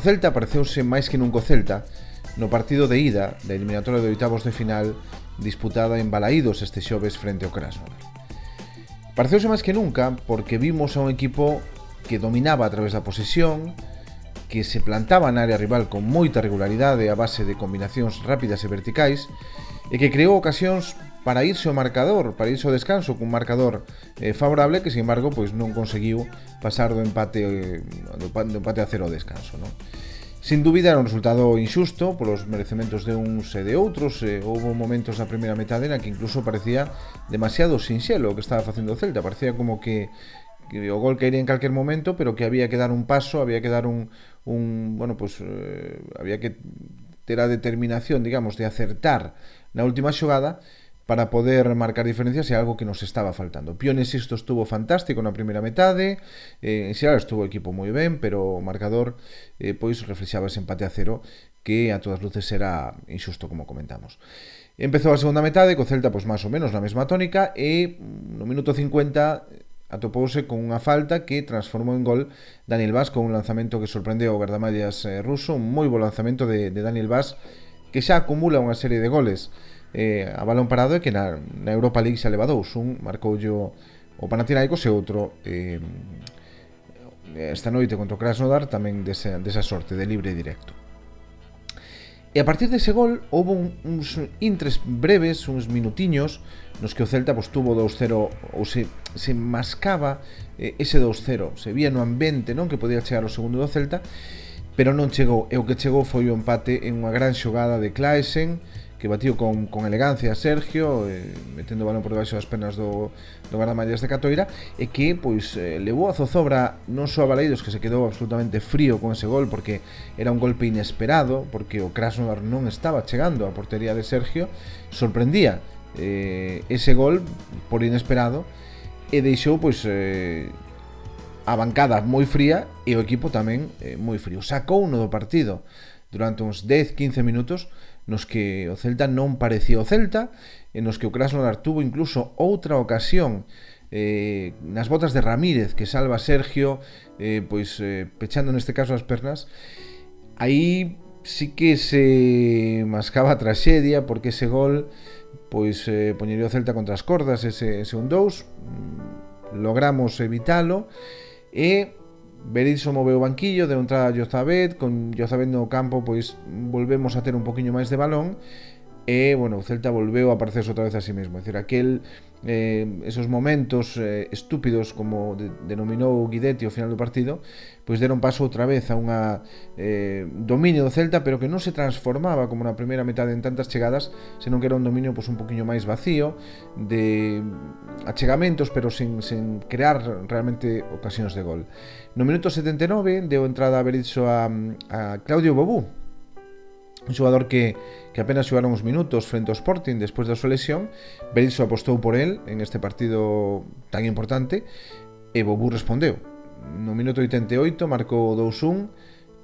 Celta pareceuse máis que nunca o Celta no partido de ida da eliminatoria de oitavos de final disputada en Balaídos este xoves frente ao Krasnodar. Pareceuse máis que nunca porque vimos a un equipo que dominaba a través da posesión, que se plantaba na área rival con moita regularidade a base de combinacións rápidas e verticais e que creou ocasións para irse ao marcador, para irse ao descanso cun marcador favorable que, sin embargo, pois non conseguiu pasar do empate a cero ao descanso, non? Sin dúbida era un resultado injusto polos merecementos de uns e de outros. Houve momentos na primeira metade na que incluso parecía demasiado sinxelo o que estaba facendo o Celta. Parecía como que o gol caería en calquer momento, pero que había que dar un paso, había que dar había que ter a determinación, digamos, de acertar na última xogada para poder marcar diferencias, é algo que nos estaba faltando. Pione Sisto estuvo fantástico na primeira metade, en xeral estuvo o equipo moi ben, pero o marcador pois reflexaba ese empate a cero que a todas luces era injusto, como comentamos. Empezou a segunda metade co Celta pois máis ou menos na mesma tónica e no minuto 50 atopouse con unha falta que transformou en gol Daniel Vaz con un lanzamento que sorprendeu o gardamallas ruso, un moi bo lanzamento de Daniel Vaz que xa acumula unha serie de goles a balón parado e que na Europa League xa leva dous. Un marcou o Panathinaikos e outro esta noite contra o Krasnodar tamén desa sorte de libre e directo. E a partir dese gol houve uns intres breves, uns minutiños nos que o Celta pois, tuvo 2-0 ou se mascaba ese 2-0, se vía no ambiente, non, que podía chegar o segundo do Celta, pero non chegou, e o que chegou foi o empate en unha gran xogada de Claesen que batiu con elegancia a Sergio, metendo o balón por debaixo das pernas do guardamallas de Catoira, e que pois levou a zozobra non só a Balaídos, que se quedou absolutamente frío con ese gol porque era un golpe inesperado, porque o Krasnodar non estaba chegando á portería de Sergio, sorprendía ese gol por inesperado e deixou pois a bancada moi fría e o equipo tamén moi frío. Sacou uno do partido durante uns 10-15 minutos nos que o Celta non parecía o Celta, en nos que o Krasnodar tuvo incluso outra ocasión nas botas de Ramírez que salva a Sergio pechando neste caso as pernas. Aí sí que se mascaba a traxedia porque ese gol pois poñería o Celta contra as cordas, ese 1-2 logramos evitalo e Berizzo moveu o banquillo, deu entrada a Jozabet, con Jozabet no campo pois volvemos a ter un poquinho máis de balón e, bueno, o Celta volveu a aparecerse outra vez a sí mesmo, é dicir, esos momentos estúpidos, como denominou Guidetti ao final do partido, pois deron paso outra vez a unha dominio do Celta, pero que non se transformaba como na primeira metade en tantas chegadas, senón que era un dominio pois un poquinho máis vacío, de achegamentos, pero sen crear realmente ocasións de gol. No minuto 79 deu entrada a Berizzo a Claudio Bobú, un xogador que apenas xogaron uns minutos frente ao Sporting despois da súa lesión. Berizzo apostou por él en este partido tan importante e Bobú respondeu. No minuto 88 marcou 2-1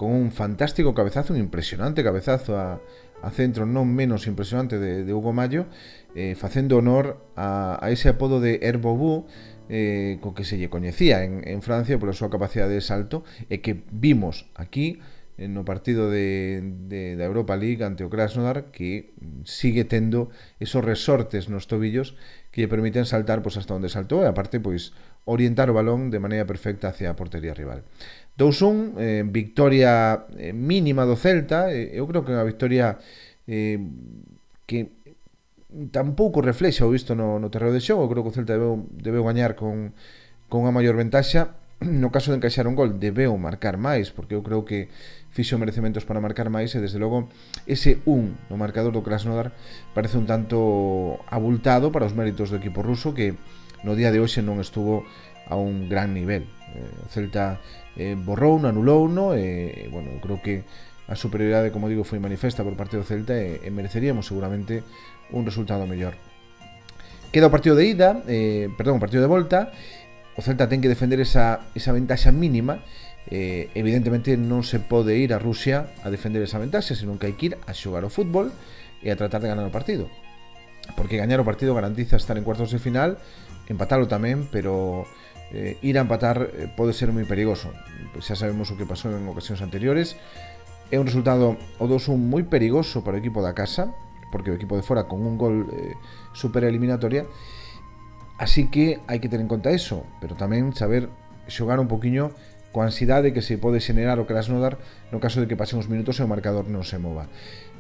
con un fantástico cabezazo, un impresionante cabezazo a centro non menos impresionante de Hugo Mallo, facendo honor a ese apodo de Herbobú co que se lle coñecía en Francia pola súa capacidade de salto e que vimos aquí no partido da Europa League ante o Krasnodar, que sigue tendo esos resortes nos tobillos que lle permiten saltar pois hasta onde saltou e aparte pois orientar o balón de maneira perfecta hacia a portería rival. 2-1, victoria mínima do Celta. Eu creo que é unha victoria que tampouco reflexa o visto no terreo de xogo. Eu creo que o Celta debeu gañar con unha maior ventaxa. No caso de encaixar un gol debeu marcar máis, porque eu creo que fixo merecementos para marcar máis e desde logo ese 1 no marcador do Krasnodar parece un tanto abultado para os méritos do equipo ruso, que no día de hoxe non estuvo a un gran nivel. O Celta borrouno, anulouno e, bueno, eu creo que a superioridade, como digo, foi manifesta por parte do Celta e mereceríamos seguramente un resultado mellor. Queda o partido de ida, o partido de volta. O Celta ten que defender esa ventaxa mínima. Evidentemente non se pode ir a Rusia a defender esa ventaxa, senón que hai que ir a xogar o fútbol e a tratar de ganar o partido, porque gañar o partido garantiza estar en cuartos de final, empatalo tamén, pero ir a empatar pode ser moi perigoso. Pois xa sabemos o que pasou en ocasións anteriores. É un resultado o 2-1 moi perigoso para o equipo da casa, porque o equipo de fora con un gol supera a eliminatoria. Así que hai que ter en conta eso, pero tamén saber xogar un poquinho coa ansiedade que se pode xenerar o Krasnodar no caso de que pasen os minutos e o marcador non se mova.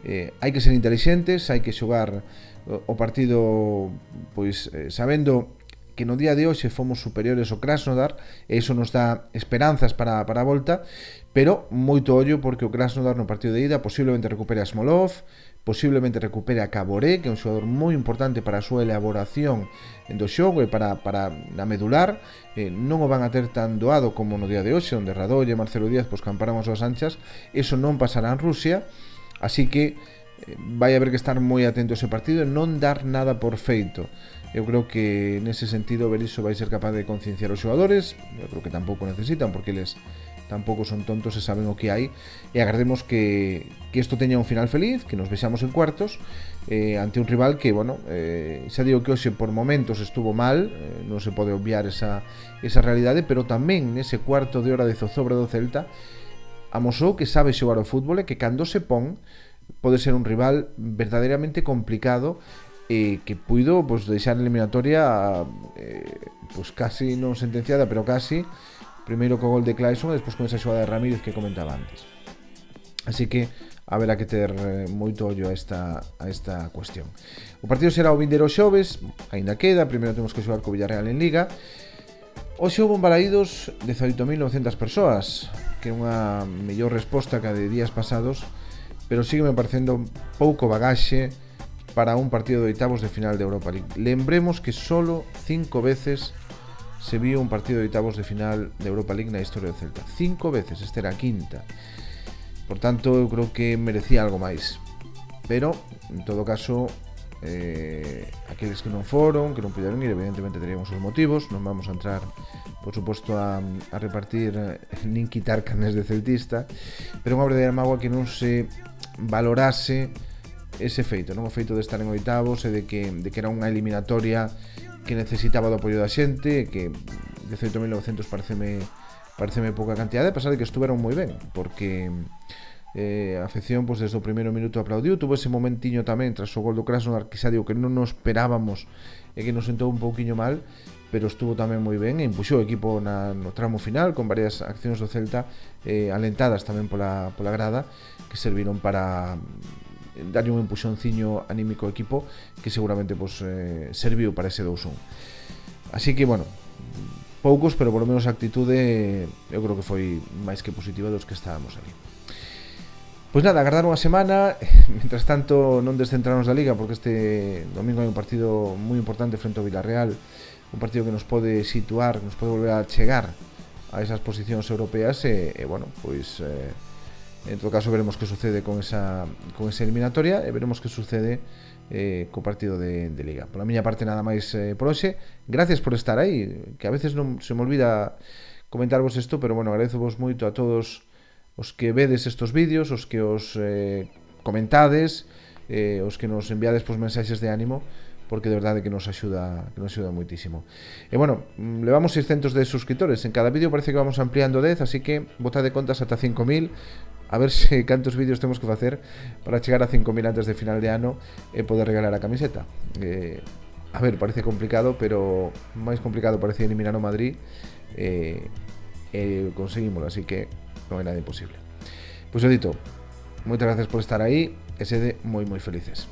Hai que ser intelixentes, hai que xogar o partido pois sabendo que no día de hoxe fomos superiores ao Krasnodar, e iso nos dá esperanzas para a volta, pero moito ollo porque o Krasnodar no partido de ida posiblemente recupere a Smolov, posiblemente recupere a Caboré, que é un xogador moi importante para a súa elaboración do xogo e para a medular. Non o van a ter tan doado como no día de hoxe, onde Radolle e Marcelo Díaz pois camparon as súas anchas. Eso non pasará en Rusia, así que vai haber que estar moi atento a ese partido e non dar nada por feito. Eu creo que nese sentido Berizzo vai ser capaz de concienciar os xogadores. Eu creo que tampouco necesitan, porque eles tampouco son tontos e saben o que hai, e agardemos que isto teña un final feliz, que nos vexamos en cuartos ante un rival que, bueno, xa digo que hoxe por momentos estuvo mal, non se pode obviar esa realidade, pero tamén nese cuarto de hora de zozobra do Celta amosou que sabe xogar ao fútbol e que cando se pon pode ser un rival verdadeiramente complicado, que puido pues, deixar a eliminatoria pues, casi non sentenciada, pero casi. Primeiro co gol de Clayson e despois con esa xogada de Ramírez que comentaba antes. Así que haberá que ter moito ollo a esta cuestión. O partido será o vindeiro xoves, aínda queda, primeiro temos que xogar co Villarreal en Liga. Hoxe houve en Balaídos 18.900 persoas, que é unha mellor resposta que a de días pasados, pero sigue me parecendo pouco bagaxe para un partido de oitavos de final de Europa League. Lembremos que solo 5 veces se viu un partido de oitavos de final de Europa League na historia do Celta. 5 veces, esta era a quinta. Por tanto, eu creo que merecía algo máis. Pero, en todo caso, aqueles que non foron, que non puderon ir, evidentemente teríamos os motivos. Non vamos a entrar, por suposto, a repartir nin quitar carnes de celtista, pero unha verdadeira mágoa que non se valorase ese feito, non o feito de estar en oitavos e de que era unha eliminatoria que necesitaba do apoio da xente, que 18.900 pareceme pouca cantidade, a pesar de que estuveron moi ben, porque a afección pues, desde o primeiro minuto aplaudiu. Tuvo ese momentiño tamén tras o gol do Krasnodar que xa digo que non nos esperábamos e que nos sentou un pouquiño mal, pero estuvo tamén moi ben e impuxou o equipo no tramo final con varias accións do Celta alentadas tamén pola grada, que serviron para darlle un empuxonciño anímico ao equipo que seguramente pues, serviu para ese 2-1. Así que, bueno, poucos, pero por lo menos a actitude eu creo que foi máis que positiva dos que estábamos ali. Pois nada, agardar unha semana. Mientras tanto, non descentrarnos da Liga, porque este domingo hai un partido moi importante frente ao Villarreal, un partido que nos pode situar, nos pode volver a chegar a esas posicións europeas e bueno, pois en todo caso veremos que sucede con esa eliminatoria e veremos que sucede co partido de Liga. Por a miña parte nada máis por hoxe. Gracias por estar aí, que a veces non se me olvida comentarvos isto, pero bueno, agradezovos moito a todos os que vedes estos vídeos, os que os comentades, os que nos enviades pues, mensaxes de ánimo, porque de verdade que nos axuda moitísimo. E bueno, levamos 600 de suscriptores, en cada vídeo parece que vamos ampliando 10, así que botade contas ata 5.000, a ver se cantos vídeos temos que facer para chegar a 5.000 antes de final de ano e poder regalar a camiseta. A ver, parece complicado, pero máis complicado parece eliminar o Madrid e conseguímoslo, así que non é nada imposible. Pois o dito, moitas gracias por estar aí e sede moi moi felices.